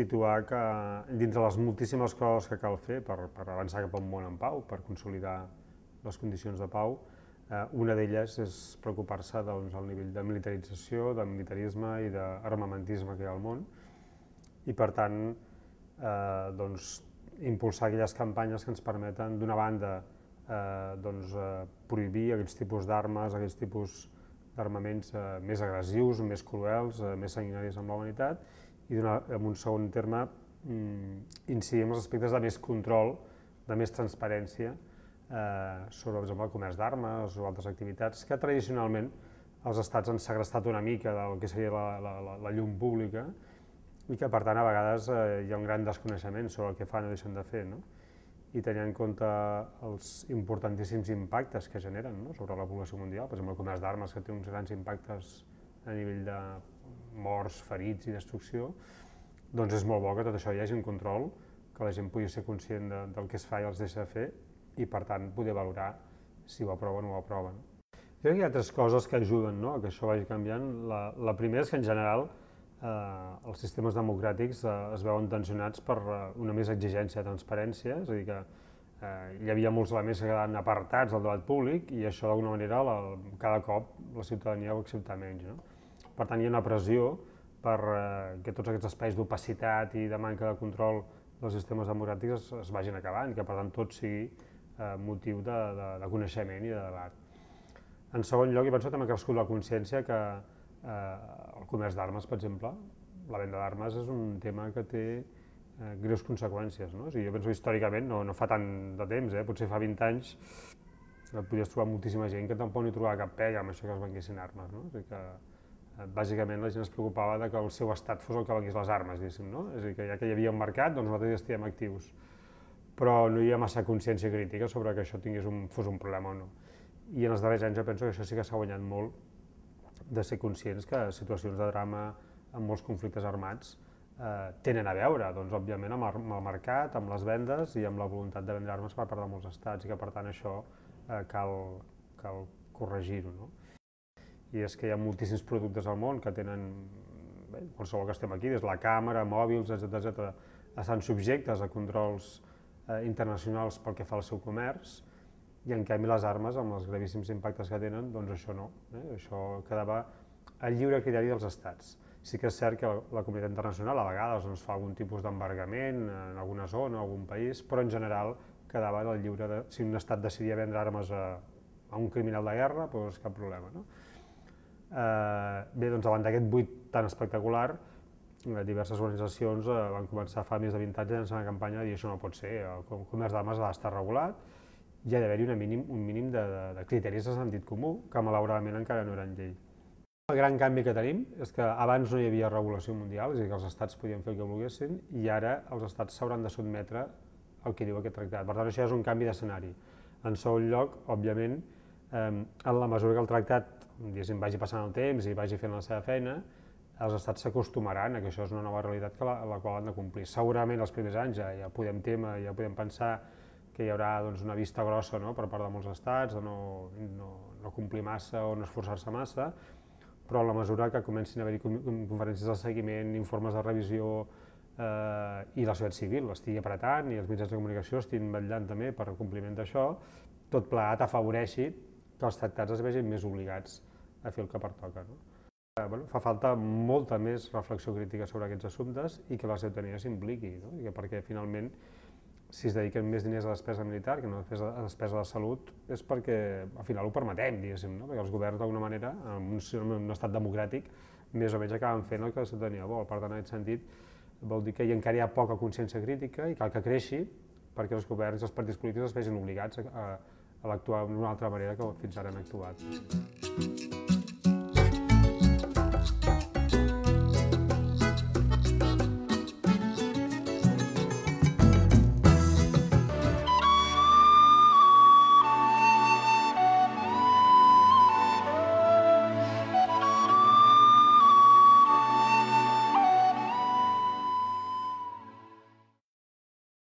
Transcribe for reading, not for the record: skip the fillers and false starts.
situar que dintre les moltíssimes coses que cal fer per avançar cap a un món en pau, per consolidar les condicions de pau, una d'elles és preocupar-se del nivell de militarització, de militarisme i d'armamentisme que hi ha al món i, per tant, impulsar aquelles campanyes que ens permeten, d'una banda, prohibir aquells tipus d'armes, aquells tipus d'armaments més agressius, més cruels, més sanguinaris amb la humanitat, i en un segon terme incidir en els aspectes de més control, de més transparència sobre, per exemple, el comerç d'armes o altres activitats que tradicionalment els estats han segrestat una mica del que seria la llum pública i que, per tant, a vegades hi ha un gran desconeixement sobre el que fan o deixen de fer, i tenir en compte els importantíssims impactes que generen sobre la població mundial, per exemple, el comerç d'armes, que té uns grans impactes a nivell de morts, ferits i destrucció, doncs és molt bo que tot això hi hagi un control, que la gent pugui ser conscient del que es fa i els deixa de fer i, per tant, poder valorar si ho aproven o no ho aproven. Jo crec que hi ha altres coses que ajuden a que això vagi canviant. La primera és que, en general, els sistemes democràtics es veuen tensionats per una més exigència de transparència, és a dir, que hi havia molts elements que quedaven apartats del debat públic i això, d'alguna manera, cada cop la ciutadania ho accepta menys. Per tant, hi ha una pressió perquè tots aquests espais d'opacitat i de manca de control dels sistemes democràtics es vagin acabant i que, per tant, tot sigui motiu de coneixement i de debat. En segon lloc, jo penso també que ha crescut la consciència que el comerç d'armes, per exemple, la venda d'armes és un tema que té greus conseqüències. Jo penso que històricament, no fa tant de temps, potser fa 20 anys, podies trobar moltíssima gent que tampoc no hi trobava cap pega amb això que es venguessin armes. Bàsicament la gent es preocupava que el seu estat fos el que vengués les armes, diguéssim. És a dir, que ja que hi havia un mercat, doncs nosaltres hi estiguem actius. Però no hi havia massa consciència crítica sobre que això fos un problema o no. I en els darrers anys jo penso que això sí que s'ha guanyat molt de ser conscients que situacions de drama amb molts conflictes armats tenen a veure, doncs, òbviament, amb el mercat, amb les vendes i amb la voluntat de vendre armes per part de molts estats i que, per tant, això cal corregir-ho. I és que hi ha moltíssims productes al món que tenen, qualsevol que estem aquí, des de la càmera, mòbils, etc., estan subjectes a controls internacionals pel que fa al seu comerç, i en canvi les armes, amb els gravíssims impactes que tenen, doncs això no. Això quedava al lliure criteri dels estats. Sí que és cert que la comunitat internacional a vegades fa algun tipus d'embargament en alguna zona, en algun país, però en general quedava al lliure de, si un estat decidia vendre armes a un criminal de guerra, doncs cap problema. Bé, doncs davant d'aquest buit tan espectacular, diverses organitzacions van començar fa més de 20 anys a llançar una campanya de dir això no pot ser, el comerç d'armes ha d'estar regulat, hi ha d'haver-hi un mínim de criteris de sentit comú, que malauradament encara no eren llei. El gran canvi que tenim és que abans no hi havia regulació mundial, és a dir, que els estats podien fer el que volguessin, i ara els estats s'hauran de sotmetre al que diu aquest tractat. Per tant, això és un canvi d'escenari. En segon lloc, òbviament, en la mesura que el tractat vagi passant el temps i vagi fent la seva feina, els estats s'acostumaran a que això és una nova realitat a la qual han de complir. Segurament els primers anys ja podem temer, ja podem pensar que hi haurà una vista grossa per part de molts estats, de no complir massa o no esforçar-se massa, però a la mesura que comencin a haver-hi conferències de seguiment, informes de revisió i la societat civil estigui apretant i els mitjans de comunicació estiguin vetllant també per el compliment d'això, tot plegat afavoreixi que els tractats es vegin més obligats a fer el que pertoca. Fa falta molta més reflexió crítica sobre aquests assumptes i que la ciutadania s'impliqui, perquè finalment si es dediquen més diners a despesa militar que no a despesa de salut és perquè al final ho permetem, diguéssim, perquè els governs d'alguna manera, en un estat democràtic, més o menys acaben fent el que la ciutadania vol. Per tant, en aquest sentit, vol dir que encara hi ha poca consciència crítica i cal que creixi perquè els governs i els partits polítics es vegin obligats a actuar d'una altra manera que fins ara han actuat.